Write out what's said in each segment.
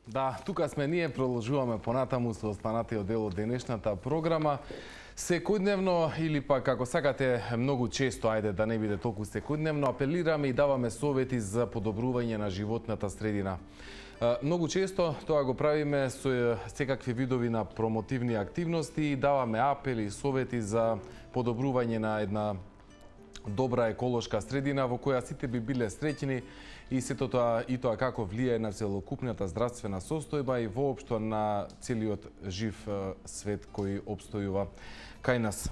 Да, тука сме ние, продолжуваме понатаму со останатиот дел од денешната програма. Секојдневно или пак како сакате многу често, ајде да не биде толку секојдневно, апелираме и даваме совети за подобрување на животната средина. Многу често тоа го правиме со секакви видови на промотивни активности и даваме апели и совети за подобрување на една добра еколошка средина во која сите би биле среќни и сето тоа и тоа како влијае на целокупната здравствена состојба и воопшто на целиот жив свет кој опстојува кај нас.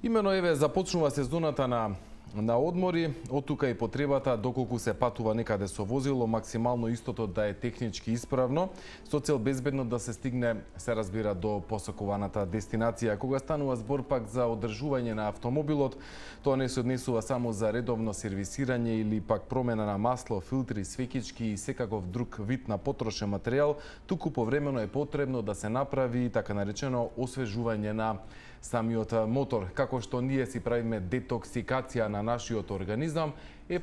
Имено еве започнува сезоната на одмори, од тука и потребата доколку се патува некаде со возило, максимално истото да е технички исправно, со цел безбедно да се стигне, се разбира, до посакуваната дестинација. Кога станува збор пак за одржување на автомобилот, тоа не се однесува само за редовно сервисирање или пак промена на масло, филтри, свекички и секаков друг вид на потрошен материјал, туку повремено е потребно да се направи така наречено освежување на самиот мотор, како што ние си правиме детоксикација на нашиот организам,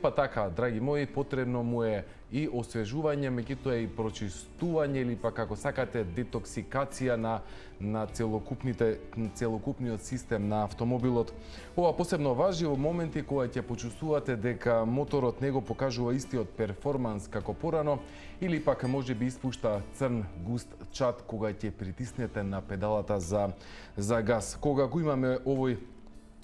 па така, драги мои, потребно му е и освежување, меѓутоа и прочистување или па како сакате детоксикација на целокупниот систем на автомобилот. Ова посебно важи во моменти кога ќе почувствувате дека моторот не го покажува истиот перформанс како порано или пак може би испушта црн густ чад кога ќе притиснете на педалата за газ. Кога го имаме овој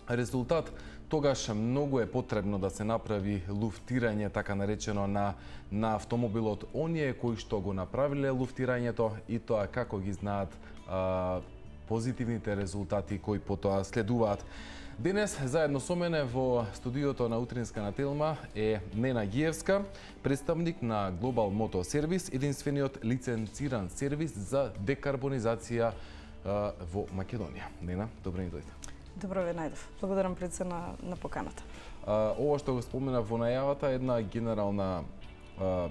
резултат, тогаш многу е потребно да се направи луфтирање, така наречено, на автомобилот. Оние кои што го направиле луфтирањето и тоа како ги знаат позитивните резултати кои потоа следуваат. Денес, заедно со мене во студиото на Утринска на Телма е Нена Гиевска, представник на Global Moto Service, единствениот лиценциран сервис за декарбонизација во Македонија. Нена, добро ни дојде. Добро ве најдов. Благодарам пред се на поканата. Ова што го спомена во најавата е една генерална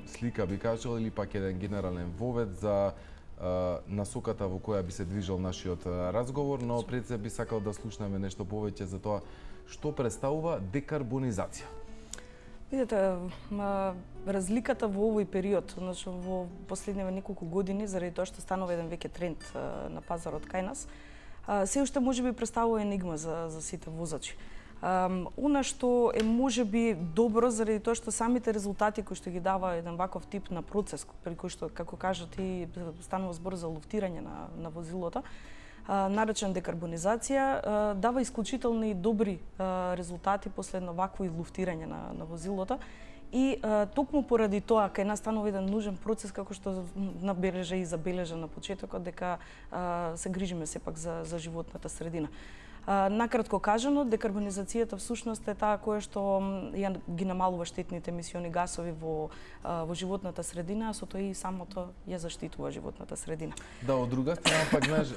слика, би кажал, или пак еден генерален вовед за насоката во која би се движел нашиот разговор, но пред се би сакал да слушнеме нешто повеќе за тоа што представува декарбонизација. Видете, разликата во овој период, значи во последниве неколку години, заради тоа што станува еден веќе тренд на пазарот кај нас, се уште можеби представува енигма за сите возачи. Она што е можеби добро заради тоа што самите резултати кои што ги дава еден ваков тип на процес, при кој што, како кажа ти, станува збор за луфтирање на возилото, наречен декарбонизација, дава исклучителни и добри резултати после едно вакво луфтирање на возилото. И токму поради тоа, кај нас станува еден нужен процес, како што набележа и забележа на почетокот, дека се грижиме сепак за животната средина. Накратко кажано, декарбонизацијата всушност е таа која што ги намалува штетните емисиони гасови во животната средина, а со тоа и самото ја заштитува животната средина. Да, од друга страна пак знаеш,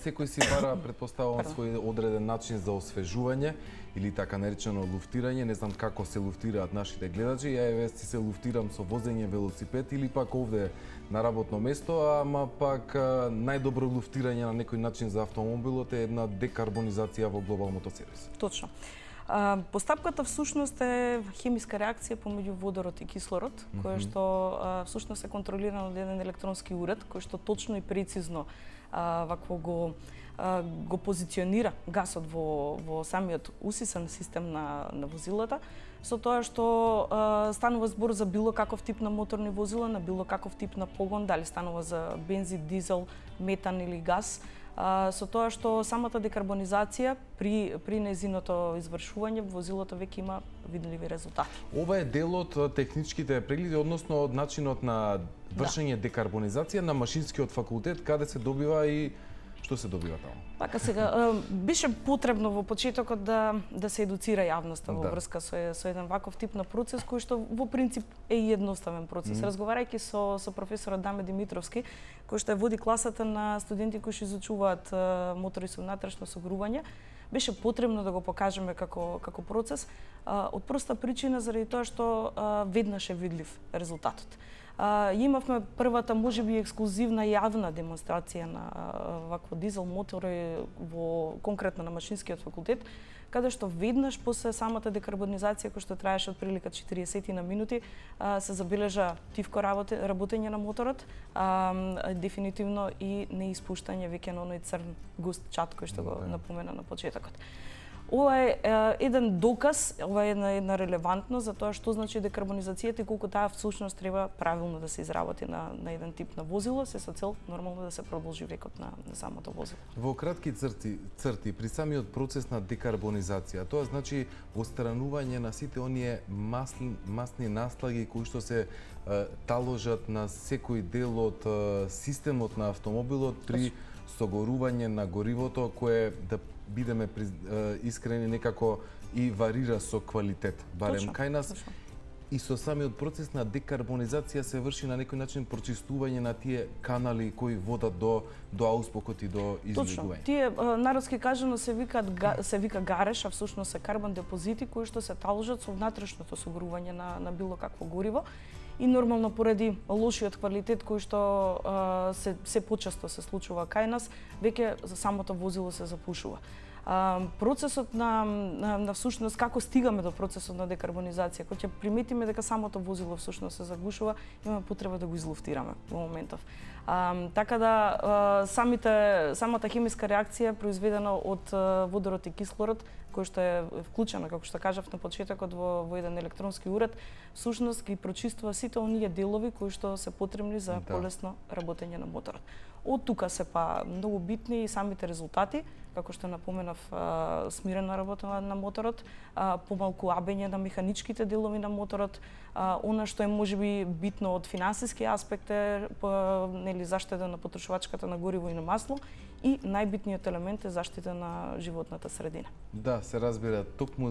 секој си бара, претпоставувам, свој одреден начин за освежување или така наречено луфтирање. Не знам како се луфтираат нашите гледачи. Ја еве си се луфтирам со возење велосипед или пак овде на работно место, ама пак најдобро луфтирање на некој начин за автомобилот е една декарбонизација во Global Moto Service. Точно. Постапката всушност е хемиска реакција помеѓу водород и кислород, која што всушност е контролирана од еден електронски уред, кој што точно и прецизно вакво го позиционира гасот во самиот усисан систем на возилата, со тоа што станува збор за било каков тип на моторни возила, на било каков тип на погон, дали станува за бензин, дизел, метан или газ, со тоа што самата декарбонизација при нејзиното извршување возилото веќе има видливи резултати. Ова е дел од техничките прегледи, односно од начинот на вршење декарбонизација на машинскиот факултет, каде се добива и што се добива таму? Така сега, беше потребно во почетокот да се едуцира јавноста во врска со еден ваков тип на процес кој што во принцип е едноставен процес. Разговарајќи со професорот Даме Димитровски, кој што води класата на студенти кои што изучуваат мотори со внатрешно согрување, беше потребно да го покажеме како процес од проста причина заради тоа што веднаш е видлив резултатот. Имавме првата, можеби ексклузивна јавна демонстрација на вакво дизел мотори конкретно на Машинскиот факултет, каде што веднаш после самата декарбонизација, која што траеше отприлика 40 на минути, се забележа тивко работење на моторот, дефинитивно и неиспуштање веќе на оној црн густ чад кој што го напомена на почетокот. Ова е еден доказ, ова е една релевантност за тоа што значи декарбонизацијата и колку таа всушност треба правилно да се изработи на еден тип на возило, се со цел нормално да се продолжи векот на самото возило. Во кратки црти при самиот процес на декарбонизација, тоа значи отстранување на сите оние масни наслаги кои што се таложат на секој дел од системот на автомобилот при согорување на горивото, кое, да бидеме искрени, некако и варира со квалитет, барем кај нас. Точно. И со самиот процес на декарбонизација се врши на некој начин прочистување на тие канали кои водат до ауспокот и до излегување. Точно. Тие народски кажано се вика гареш, а всушност се карбон депозити кои што се таложат со внатрешното согорување на било какво гориво. И нормално поради лошиот квалитет кој што се почесто се случува кај нас, веќе за самото возило се запушува. Процесот на всушност, како стигаме до процесот на декарбонизација, кога ќе приметиме дека самото возило всушност се загушува, имаме потреба да го излуфтираме во моментов. Така да самата хемиска реакција произведена од водород и кислород, кој што е вклучена, како што кажав на почетокот, во еден електронски уред, всушност ги прочиствува сите оние делови кои што се потребни за полесно работење на моторот. Од тука се многу битни и самите резултати, како што напоменав, смирена работа на моторот, помалку абење на механичките делови на моторот, она што е можеби битно од финансиски аспект е заштита на потрошувачката на гориво и на масло, и најбитниот елемент е заштита на животната средина. Да, се разбира. Токму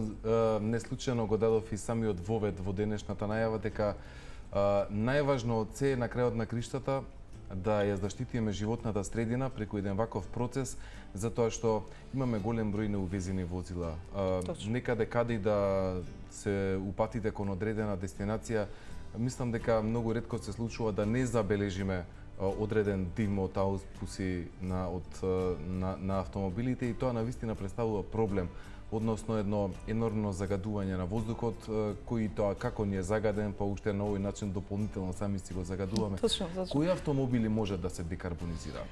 неслучајно го дадов и самиот вовед во денешната најава дека најважно од се на крајот на криштата да ја заштитиме животната средина преку еден ваков процес, затоа што имаме голем број неувезени возила. Некаде каде и да се упатите кон одредена дестинација, мислам дека многу ретко се случува да не забележиме одреден дим од ауспуси на автомобилите, и тоа навистина представува проблем, односно едно енормно загадување на воздухот, кој тоа како ни е загаден, па уште на овој начин дополнително сами си го загадуваме. Точно. Кои автомобили може да се декарбонизираат?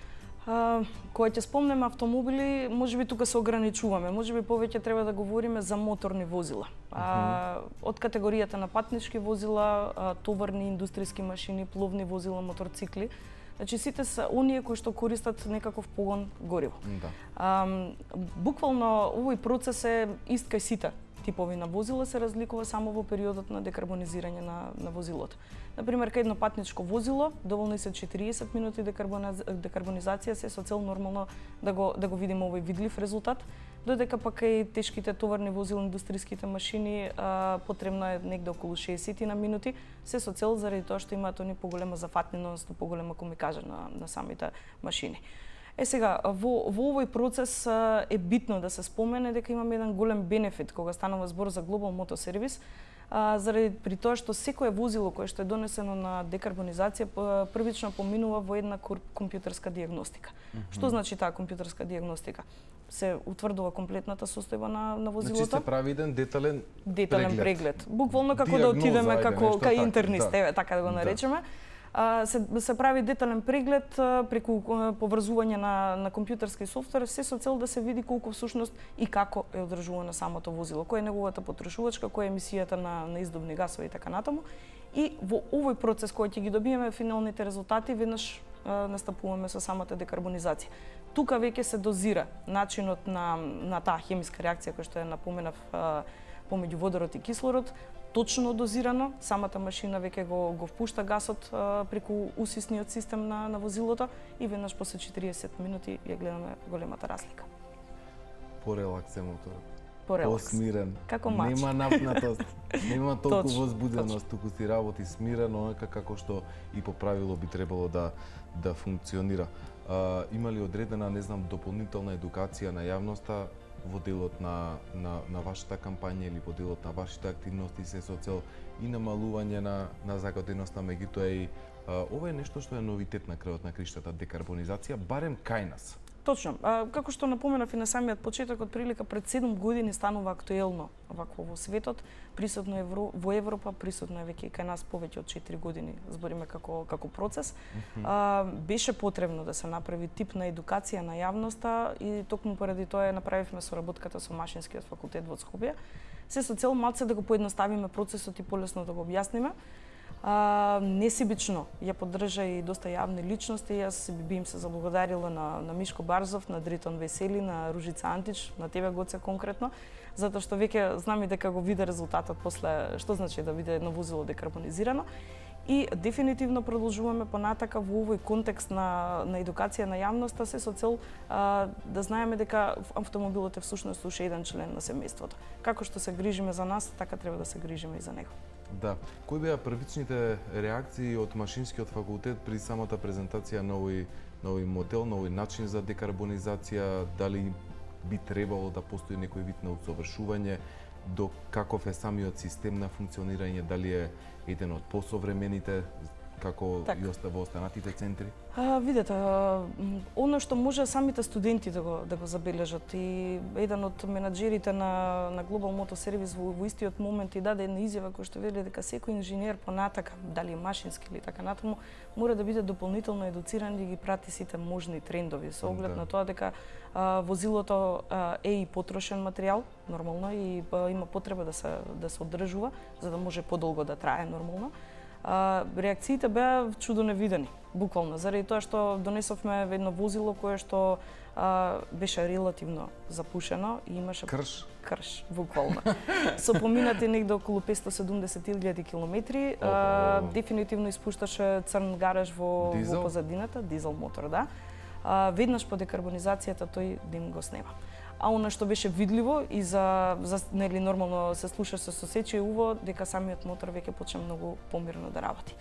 Кога ќе спомнеме автомобили, можеби тука се ограничуваме. Можеби повеќе треба да говориме за моторни возила. Од категоријата на патнички возила, товарни индустријски машини, пловни возила, моторцикли. Значи сите се оние кои што користат некаков погон гориво. Буквално овој процес е ист кај сите типови на возила, се разликува само во периодот на декарбонизирање на возилото. Например, кај едно патничко возило, доволни се 40 минути декарбонизација, се со цел нормално да го видиме овој видлив резултат, додека пак кај тешките товарни возила, индустријските машини, потребно е негде околу 60 на минути, се со цел заради тоа што имаат они поголема зафатненост, поголема комикажа на самите машини. Сега, во овој процес е битно да се спомене дека имаме еден голем бенефит кога станува збор за Global Moto Service, заради при тоа што секое возило кое што е донесено на декарбонизација првично поминува во една компјутерска дијагностика. Што значи таа компјутерска дијагностика? Се утврдува комплетната состојба на возилото. Значи се прави еден детален преглед. Буквално како да отидеме кај интернист, така да го наречеме. Се прави детален преглед преку поврзување на компјутерски софтвер, се со цел да се види колку всушност и како е одржувано самото возило, која е неговата потрошувачка, која е емисијата на издувни гасови и така натаму. И во овој процес кој ќе ги добиеме финалните резултати, веднаш настапуваме со самата декарбонизација. Тука веќе се дозира начинот на таа хемиска реакција која што ја напоменав помеѓу водород и кислород, точно дозирано, самата машина веќе го впушта гасот преку усисниот систем на возилото и веднаш после 40 минути ја гледаме големата разлика. Порелакс е моторот. Посмирен. Како мач. Нема напнатост, нема толку возбуденост, туку си работи смирено, онака како што и по правило би требало да функционира. Има ли одредена, не знам, дополнителна едукација на јавноста во делот на вашата кампања или во делот на вашите активности се со цел и намалување на загаденоста, меѓутоа и ова е нешто што е новитет на крајот на криштата, декарбонизација, барем кај нас. Точно. Како што напоменав и на самиот почеток, од прилика пред 7 години станува актуелно вакво во светот, присутно е во Европа, присутно е веќе кај нас повеќе од 4 години, збориме како процес. Беше потребно да се направи тип на едукација на јавноста и токму поради тоа направивме соработката со Машинскиот факултет во Скопје, се со цел малце да го поедноставиме процесот и полесно да го објасниме. Несебично ја поддржа и доста јавни личности. Јас би им се заблагодарила на Мишко Барзов, на Дритон Весели, на Ружица Антич, на тебе Гоце конкретно, затоа што веќе знаме дека го виде резултатот после што значи да биде едно возило декарбонизирано. И дефинитивно продолжуваме понатака во овој контекст на едукација на јавноста, се со цел да знаеме дека автомобилот е всушност уште еден член на семејството. Како што се грижиме за нас, така треба да се грижиме и за него. Да. Кои беа првичните реакции од Машинскиот факултет при самата презентација на овој модел, на овој начин за декарбонизација? Дали би требало да постои некој вид на усовршување? До каков е самиот систем на функционирање? Дали е еден од посовремените, како и во останатите центри? Видете, оно што може самите студенти да го забележат, и еден од менаџерите на Global Motor Service во истиот момент и даде една изјава која што вели дека секој инженер понатака, дали е машински или така натаму, мора да биде дополнително едуциран и ги прати сите можни трендови со оглед на тоа дека возилото е и потрошен материјал, нормално, и има потреба да се одржува за да може подолго да трае нормално. Реакциите беа чудо невидени, буквално, заради тоа што донесовме едно возило кое што беше релативно запушено и имаше крш, буквално. Со поминати негде околу 570.000 километри, дефинитивно испушташе црн гараж во позадината, дизел мотор, да. Веднаш по декарбонизацијата тој дим го снема. А она што беше видливо и за нели нормално се слуша со сосече уво, дека самиот мотор веќе почна многу помирно да работи.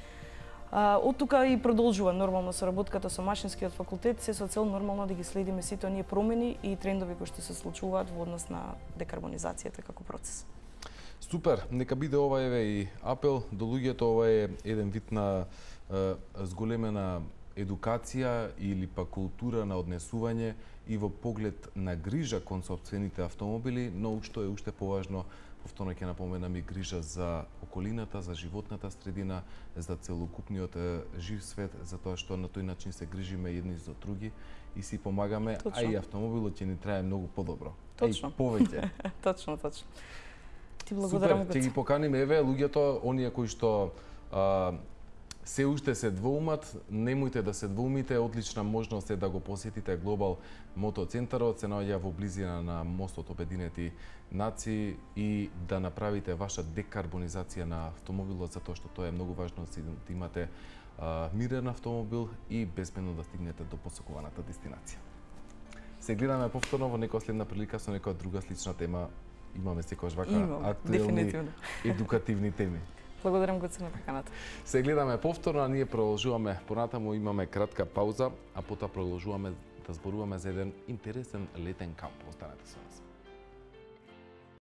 Од тука и продолжува нормално соработката со Машинскиот факултет, се со цел нормално да ги следиме сите оние промени и трендови кои што се случуваат во однос на декарбонизацијата како процес. Супер, нека биде ова и апел до луѓето, ова е еден вид на зголемена едукација или па култура на однесување и во поглед на грижа кон сопствените автомобили, но што е уште поважно, повторно ќе напоменам, и грижа за околината, за животната средина, за целокупниот жив свет, затоа што на тој начин се грижиме едни за други и си помагаме, а и автомобилот ќе ни трае многу подобро. Точно. Повеќе. Точно. Ти благодарам. Супер, ќе ги поканиме еве луѓето, оние кои што се уште се двоумат, немојте да се двоумите, одлична можност е да го посетите Global Motor Центарот, се наоѓа во близина на мостот Обединети нации и да направите ваша декарбонизација на автомобилот, затоа што тоа е многу важно да имате мирен автомобил и безбедно да стигнете до посакуваната дестинација. Се гледаме повторно во некоја следна прилика со некоја друга слична тема. Имаме секогаш вака актуелни едукативни теми. Благодарам Гоце на поканата. Се гледаме повторно, а ние продолжуваме понатаму, имаме кратка пауза, а потоа продолжуваме да зборуваме за еден интересен летен камп. Останете со нас.